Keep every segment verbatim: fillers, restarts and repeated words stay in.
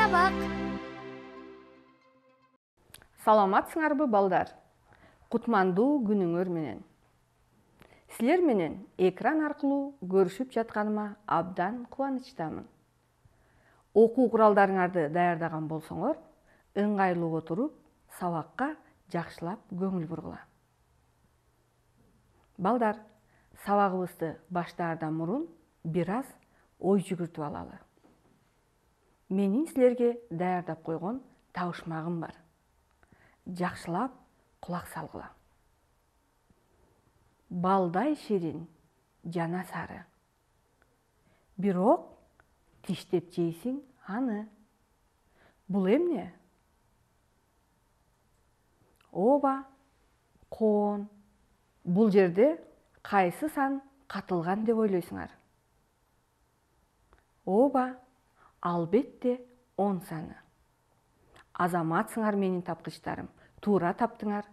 сабак. Саламатсыңарбы балдар? Кутмандуу күнүңөр менен. Силер менен экран аркылуу көрүшүп жатканыма абдан кубанычтамын. Окуу куралдарыңарды даярдаган болсоңор, ыңгайлуу отуруп, сабакка жакшылап көңүл бургула. Балдар, сабагыбызды баштаардан мурун бир аз ой жүгүртүп алалы. Менин силерге даярдап койгон табышмагым бар. Жакшылап кулак салгыла. Балдай ширин жана сары. Бирок тиштеп жейсиң аны. Бул эмне? Ооба, коон. Бул жерде кайсы сан катылган деп ойлойсуңар? Ооба, албетте он саны. Азаматсыңар менин тапкычтарым, туура таптыңар.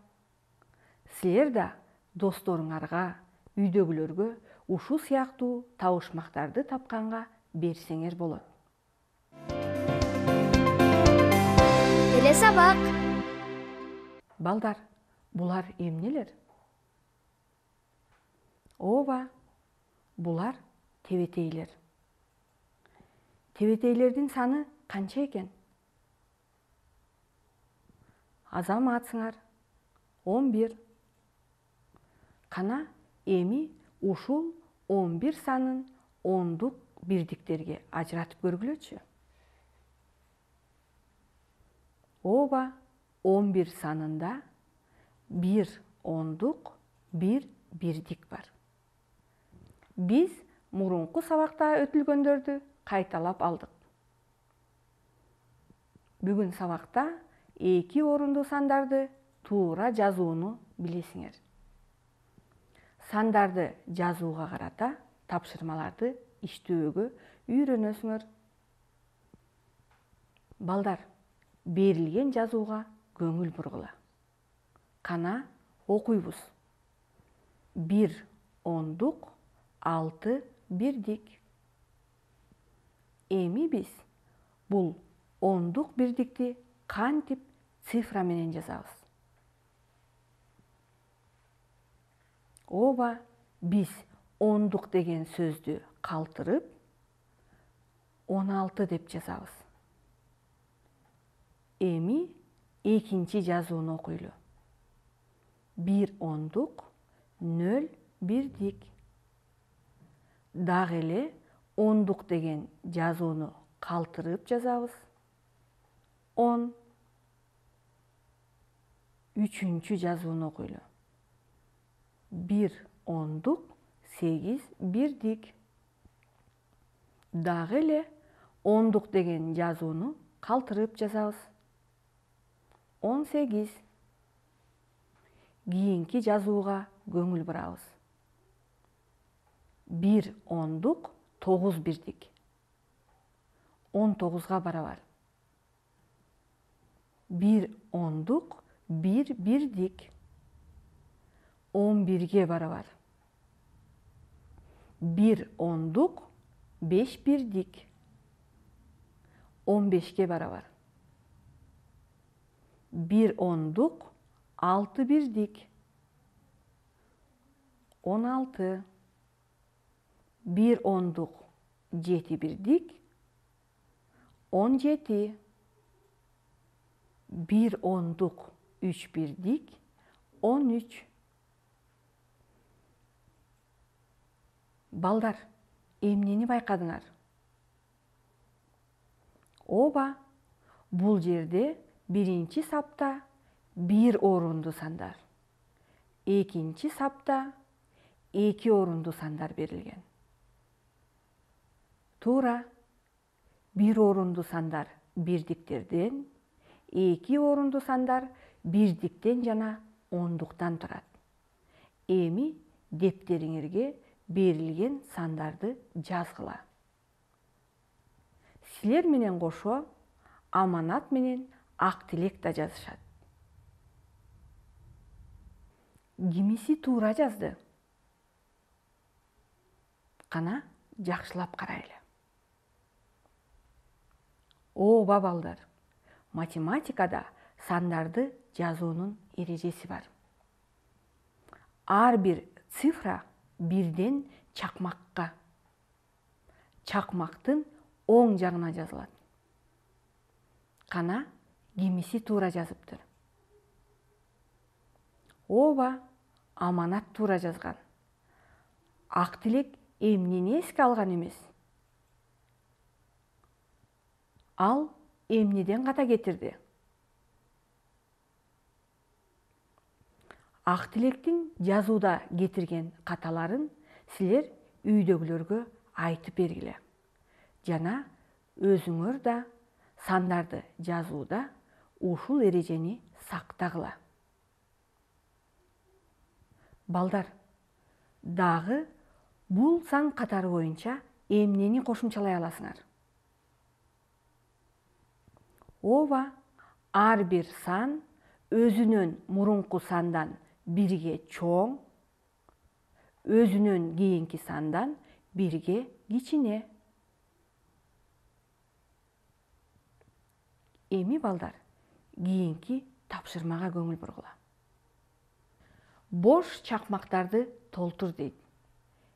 Силер да досторуңарга, үйдөгүлөргө ушул сыяктуу табышмактарды тапканга берсеңер болот. Эле сабак. Балдар, булар эмнелер? Ооба, булар тебетейлер. Тебетейлердин саны канча экен? Азаматсыңар, он бир. Кана эми ушул он бир санын ондук бирдиктерге ажыратып көргүлөчү. Ооба, он бир санында бир ондук, бир бирдик бар. Биз мурунку сабакта өтүлгөндөрдү кайталап алдык. Бүгүн сабакта эки орундуу сандарды туура жазууну билесиңер. Сандарды жазууга карата тапшырмаларды иштөөгө үйрөнөсүңөр. Балдар, берилген жазууга көңүл бургула. Кана окуйбуз. бир ондук, алты бирдик. Эми биз бул ондук бирдикти кантип цифра менен жазабыз? Ооба, биз ондук деген сөздү калтырып, он алты деп жазабыз. Эми экинчи жазууну окуйлу. бир ондук, нөл бирдик. Дагы эле ондук деген жазууну калтырып жазабыз. он. Үчүнчү жазууну окуйлу. бир ондук, сегиз бирдик. Дагы эле ондук деген жазууну калтырып жазабыз. он сегиз. Кийинки жазууга көңүл бурабыз. бир ондук, тогуз бирдик. он тогузга барабар. бир ондук, бир бирдик. он бирге барабар. бир ондук, беш бирдик. он бешке барабар. бир ондук, алты бирдик. он алты. бир ондук, жети бирдик. он жети. бир ондук, үч бирдик. он үч. Балдар, эмнени байкадыңар? Ооба, бул жерде биринчи сапта бир орунду сандар, экинчи сапта эки орунду сандар берилген. Туура, бир орунду сандар бирдиктерден, эки орунду сандар бирдиктен жана ондуктан турат. Эми дептериңерге берилген сандарды жазгыла. Силер менен кошо Аманат менен Актилек да жазышат. Кимиси туура жазды? Кана жакшылап карайлы. Ооба балдар, математикада сандарды жазуунун эрежеси бар. Ар бир цифра бирден чакмакка, чакмактын оң жагына жазылат. Кана кимиси туура жазыптыр? Ооба, Аманат туура жазган. Ак тилек эмнени эске алган эмес? Ал эмнеден ката кетирди? Ак тилектин жазууда кетирген каталарын силер үйдөгүлөргө айтып бергиле. Жана өзүңөр да сандарды жазууда ушул эрежени сактагыла. Балдар, дагы бул сан катары боюнча эмнени кошумчалай аласыңар? Ооба, ар бир сан өзүнөн мурунку сандан бирге чоң, өзүнөн кийинки сандан бирге кичине. Эми балдар, кийинки тапшырмага көңүл бургула. Бош чакмактарды толтур дейт.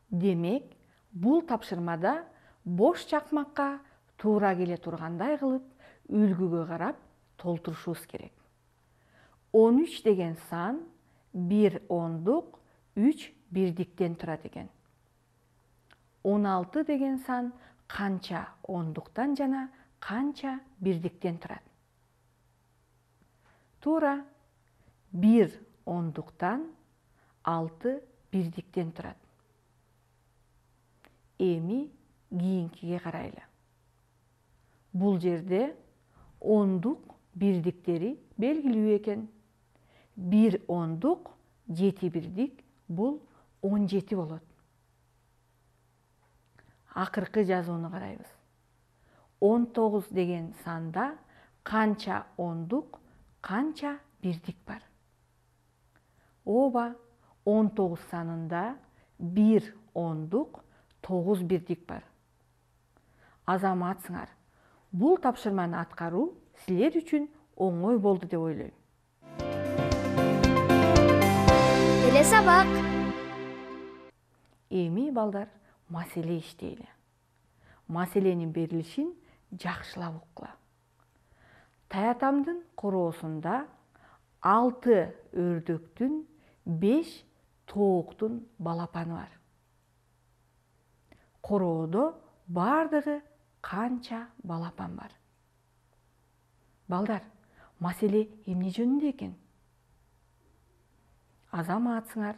Демек, бул тапшырмада бош чакмакка туура келе тургандай кылып үлгүгө карап толтурушубуз керек. он үч деген сан бир ондук, үч бирдиктен турат экен. он алты деген сан канча ондуктан жана канча бирдиктен турат? Туура, бир ондуктан, алты бирдиктен турат. Эми кийинкиге карайлы. Бул жерде ондук бирдиктери белгилүү экен. бир ондук, жети бирдик, бул он жети болот. Акыркы жазууну карайбыз. он тогуз деген санда канча ондук, канча бирдик бар? Ооба, он тогуз санында бир ондук, тогуз бирдик бар. Азаматсыңар, бул тапшырманы аткаруу силер үчүн оңой болду деп ойлойм. Эле сабак. Эми балдар, маселе иштейли. Маселенин берилишин жакшылап уккула. Таятамдын короосунда алты өрдөктүн, беш тооктун балапаны бар. Короодо бардыгы канча балапан бар? Балдар, маселе эмне жөнүндө экен? Азаматсыңар,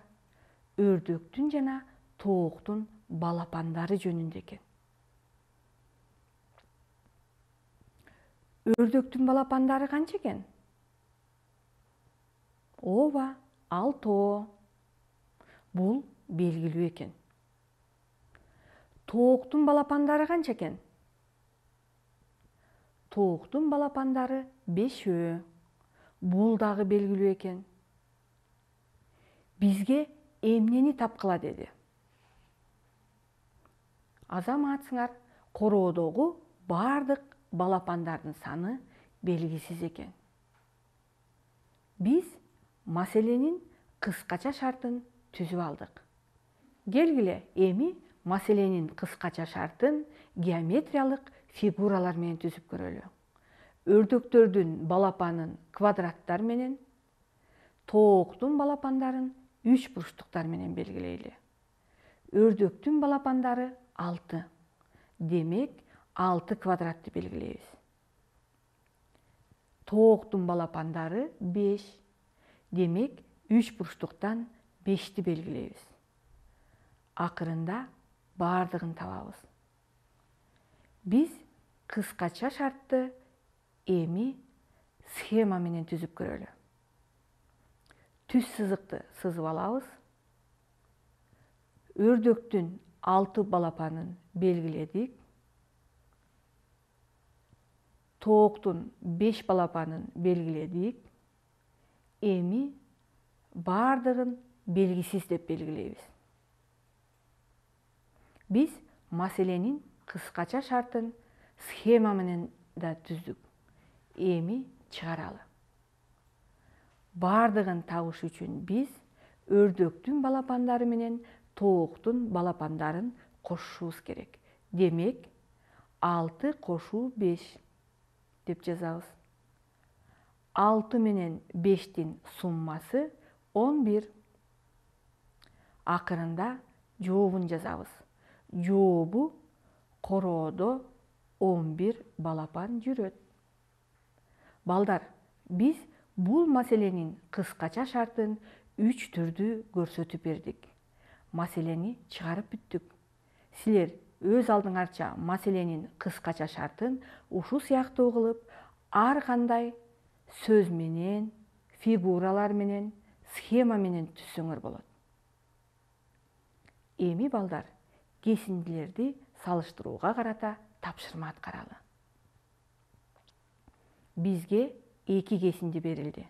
өрдөктүн жана тооктун балапандары жөнүндө экен. Өрдөктүн балапандары канча экен? Ооба, алтоо. Бул белгилүү экен. Тооктун балапандары канча экен? Тооктун балапандары бешөө. Бул дагы белгилүү экен. Бизге эмнени тапкыла деди? Азаматсыңар, короодогу бардык балапандардын саны белгисиз экен. Биз маселенин кыскача шартын түзүп алдык. Келгиле, эми маселенин кыскача шартын геометриялык фигуралар менен түзүп көрөлү. Өрдөктөрдүн балапанын квадраттар менен, тооктун балапандарын үч бурчтуктар менен белгилейли. Өрдөктүн балапандары алты. Демек, алты квадратты белгилейбиз. Тооктун балапандары беш. Демек, үч бурчтуктан бешти белгилейбиз. Акырында бардыгын табабыз. Биз кыскача шартты эми схема менен түзүп көрөлү. Түз сызыкты сызып алабыз. Өрдөктүн алты балапанын белгиледик. Тооктун беш балапанын белгиледик. Эми бардыгын белгисиз деп белгилейбиз. Биз маселенин кыскача шартын схема менен да түздүк. Эми чыгаралы. Бардыгын табыш үчүн биз өрдөктүн балапандары менен тооктун балапандарын кошушубуз керек. Демек, алты кошуу беш деп жазабыз. алты менен бештин суммасы он бир. Акырында жообун жазабыз. Жообу короодо он бир балапан жүрөт. Балдар, биз бул маселенин кыскача шартын үч түрдүү көрсөтүп бердик. Маселени чыгарып бүттүк. Силер өз алдыңарча маселенин кыскача шартын ушул сыяктуу кылып, ар кандай сөз менен, фигуралар менен, схема менен түзсөңөр болот. Эми балдар, кесиндилерди салыштырууга карата тапшырма аткаралы. Бизге эки кесинди берилди.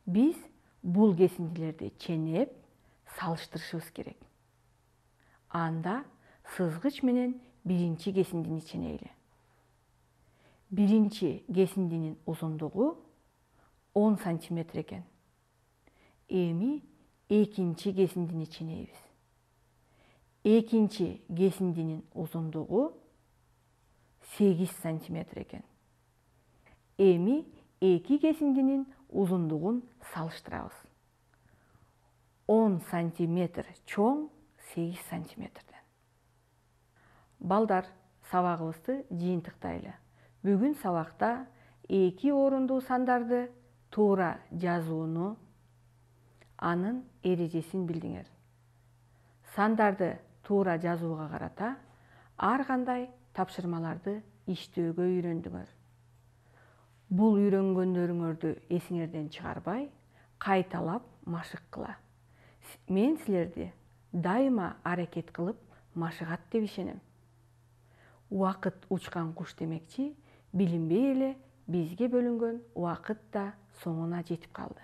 Биз бул кесиндилерди ченеп, салыштырышыбыз керек. Анда сызгыч менен биринчи кесиндини ченейли. Биринчи кесиндинин узундугу он сантиметр экен. Эми экинчи кесиндини ченейбиз. Экинчи кесиндинин узундугу сегиз сантиметр экен. Эми эки кесиндинин узундугун салыштырабыз. он сантиметр чоң, сегиз сантиметрден. Балдар, сабагыбызды жыйынтыктайлы. Бүгүн сабакта эки орундуу сандарды туура жазууну, анын эрежесин билдиңер. Сандарды туура жазууга карата ар кандай тапшырмаларды иштөөгө үйрөндүңөр. Бул үйрөнгөндөрүңөрдү эсиңерден чыгарбай, кайталап машыккыла. Мен силерди дайыма аракет кылып машыгат деп ишенем. Убакыт учкан куш демекчи, билинбей эле бизге бөлүнгөн убакыт да соңуна жетип калды.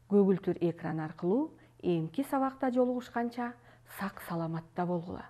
Көгүлтүр экран аркылуу эмки сабакта жолугушканча сак саламатта болгула.